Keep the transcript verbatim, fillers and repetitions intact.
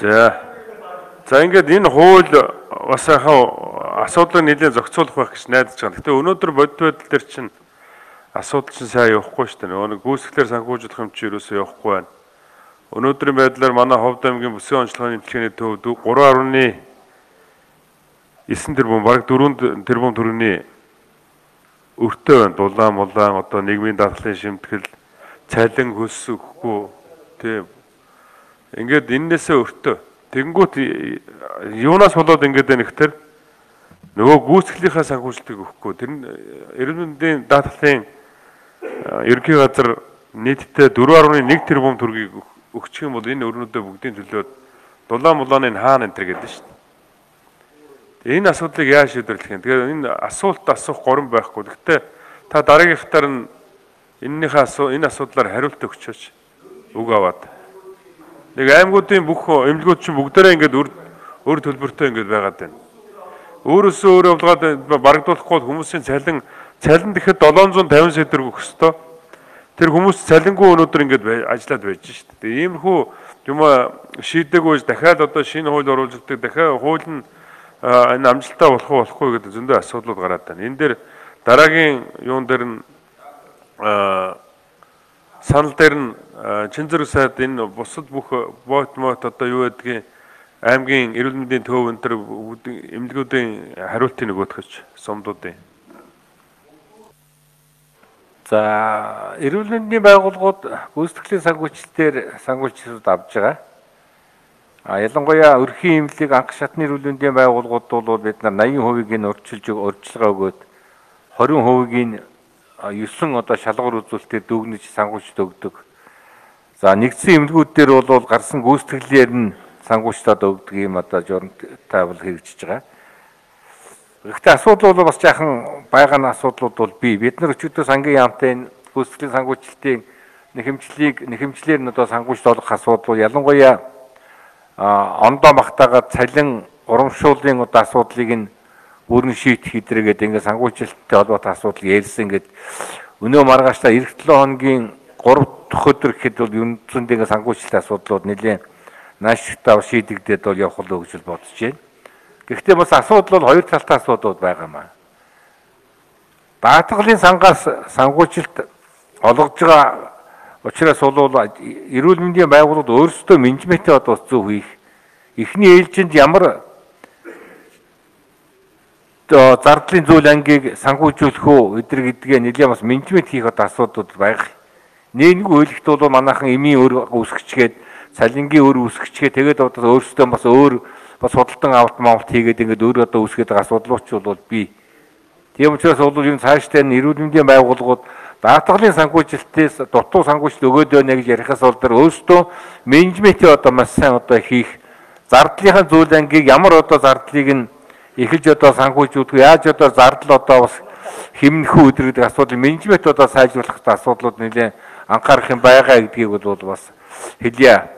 За. За ингээд энэ хууль бас яхаа асуудлыг нэлээд зохицуулах байх гэж найдаж байгаа. Гэхдээ өнөөдөр бодит байдал дээр чинь асуудал чинь сайн явахгүй шүү дээ. Нөгөө гүйцэтгэлээр санхүүжүүлэх юм чи юусоо явахгүй байна. Өнөөдрийн байдлаар манай Ховд аймгийн бүсийн онцлогооны дэлхийний төвд гурван гаруй девять тэрбум бараг дөрвөн тэрбум төгрөгийн өртөө байна. Дулаан, мулаан одоо нийгмийн дадлын шимтгэл, цалин хөлс өгөхгүй тийм. Ингээд эннээсээ өртөө. Тэнгүүт юунаас болоод ингээд байна гэхээр нөгөө гүйцэтгэлийнхаа санхүүжилтийг өгөхгүй. Тэр нь эрүүл мэндийн дадлын ерөнхий газар нийтдээ дөрвөн гаруй нэг тэрбум төгрөгийг өгчих юм бол энэ өрнөдөө бүгдийн төлөөд дулаан мулааны хаана энэ төр гэдэг шүү дээ. Энэ асуудлыг яаж шийдвэрлэх юм? Тэгэхээр энэ асуулт асуух горон байхгүй. Гэхдээ та дараагийнхтаар нь энэнийхээ асуу энэ асуудлаар хариулт өгчөөч үг аваад. Нэг аймагуудын бүх эмнэлгүүд чинь бүгдээрээ ингээд өр өр төлбөртэй ингээд байгаад байна. Өөрөөсөө өөрөө явуулгаад барагдуулахгүй хүмүүсийн цалин цалин гэхэд долоон зуун тавин сая төгрөг өгөх ёстой. Тэр хүмүүс цалингүй өнөөдөр ингээд ажиллаад байж шүү дээ. Иймэрхүү юм шийдэггүй дахиад одоо шинэ хууль оруулж өгдөг дахиад хууль нь энэ амжилттай болох уу болохгүй гэдэг зөндөө асуудлууд гараад байна. Энэ дээр дараагийн юун дээр нь санал дээр нь чин зэрэг сайд энэ бусад бүх бот мот одоо юу гэдгийг аймгийн эрүүл мэндийн төв энэ төр эмнэлгүүдийн хариултыг нөгөөдгөж сумдуудын. За эрүүл мэндийн байгууллагууд гүйцэтгэлийн санхүүжилтээр санхүүжилтүүд авж байгаа. А ялангуяа өрхийн эмнэлэг анх шатны эрүүл мэндийн байгууллагууд бол бид нар восемь хувийг нь урьдчилж урьдчилгаа өгөөд двадцать хувийг нь девять одоо шалгуур үзүүлэлтээр дүгнэж санхүүжилт өгдөг. За нэгдсэн эмнэлгүүд дээр бол гарсан гүйцэтгэлээр нь санхүүжилтад өгдөг юм одоо журамтай бол хэрэгжиж байгаа. Гэхдээ асуудал бол бас жаахан байгаа н асуудлууд бол бий. Бид нар өчигдөр сангийн яамтай энэ гүйцэтгэлийн санхүүжилтийн нэхэмжлийг нэхэмжлэр нь одоо санхүүжилт олох асуудал ялангуяа ондоо магтаагаад цалин урамшууллын одоо асуудлыг нь бүрэн шийдэх хэдрэгээд ингээд санхүүжилттэй холбоотой асуудал ярьсан ингээд өнөө маргааштай эх долоо хоногийн гурав дахь өдөр гэхэд бол ерөнхийдөө ингээд санхүүжилтийн асуудлууд нэлээд наашигтай шийдэгдээд бол явах л гэж бодож байна. Гэхдээ бас асуудал бол хоёр талтай асуудлууд байгаа маа. Даатгалын сангаас санхүүжилт олгож байгаа учраас бол эрүүл мэндийн байгууллагууд өөрсдөө менежментээ одоо зөв хийх. Эхний ээлжинд ямар зардлын зүйл ангийг санхүүжүүлэх үү эдэр гэдгээ нэлээд бас менежмент хийх одоо асуудлууд байгаа. Нэггүй үйлдэлт бол манайхан эмийн өр үүсгэчгээд цалингийн өр үүсгэчгээд тэгээд одоо өөрсдөө бас өөр бас худалдан авалт маавт хийгээд ингээд өөр одоо үүсгээд байгаа асуудлууч бол бий. Тийм учраас бол энэ цаашдаа эрүүл мэндийн байгууллагууд даатгалын санхүүжилтээс дутуу санхүүжилт өгөөд байна гэж ярихаас бол тэр өөрсдөө менежментээ одоо маш сайн одоо хийх зардлынхаа зүйл ангийг ямар одоо зардлыг нь эхэлж одоо санхүүжүүлэх яаж одоо зардал одоо бас хэмнэх үү гэдэг асуудал менежмент одоо сайжруулах асуудлууд нэлээд анхаарах юм байгаа гэдгийг бол бас хэлье.